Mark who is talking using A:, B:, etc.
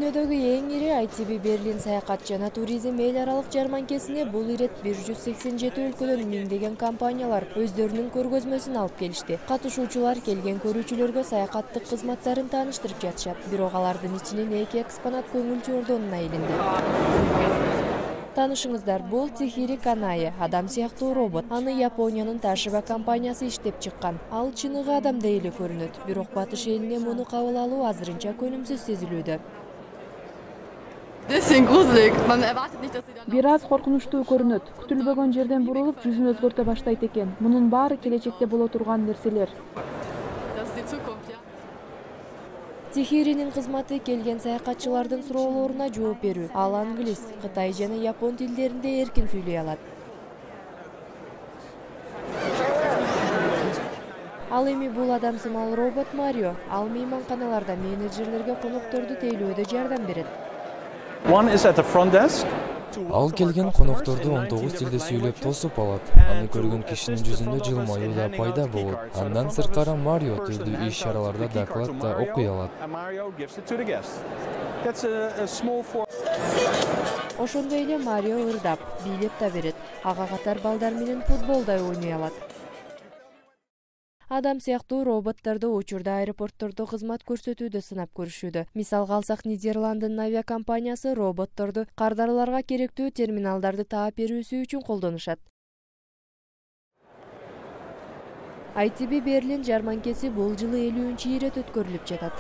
A: Дүйнөдөгү эң ири ITB Берлин саякат жана туризм эл аралык жарманкесине бул ирет 187 өлкөдөн миңдеген компаниялар өздөрүнүн көргөзмөсүн алып келишти. Катышуучулар келген көрүүчүлөргө саякаттык кызматтарын тааныштырып жатышат. Бирок алардын ичинен 2 экспонат көңүлчү ордонуна илинди. Танышыңыздар, бул Тихири Канае, адам сыяктуу робот. Аны Япониянын Ташиба компаниясы иштеп чыккан. Ал чыныгы адамдай эле көрүнөт, бирок батыш элине муну кабыл алуу азырынча көнүмсүз сезилүүдө.
B: Бир аз коркунучтуу көрүнөт. Күтүлбөгөн жерден бурулуп, жүзүн өзгөртө баштайт экен. Мунун баары келечекте боло турган нерселер.
A: Тихиринин кызматы келген саякатчылардын суроолоруна жооп берүү. Ал англис, кытай жана япон тилдеринде эркин сүйлөй алат. Ал эми бул адам сымал робот Марио. Ал мейманканаларда менеджерлерге конокторду тейлөөдө жардам берет.
C: Ал келген конокторду 19 тилде сүйлөп тосуп алат. Аны көргөн кишинин жүзүндө жылмаюу да пайда болот. Андан сырткары Марио түрдүү иш-чараларда доклад да окуй алат.
A: Ошондой эле Марио ырдап, бийлеп да берет. Ага катар балдар менен футбол да ойной алат. Адам сыяктуу роботторду учурда аэропорттордо кызмат көрсөтүүдө сынап көрүшүүдө. Мисалга алсак, Нидерландынын авиакомпаниясы роботторду кардарларга керектүү терминалдарды таап берүүсү үчүн колдонушат. ITB Берлин жарманкеси бул жылы 50-ирет өткөрүлүп жатат.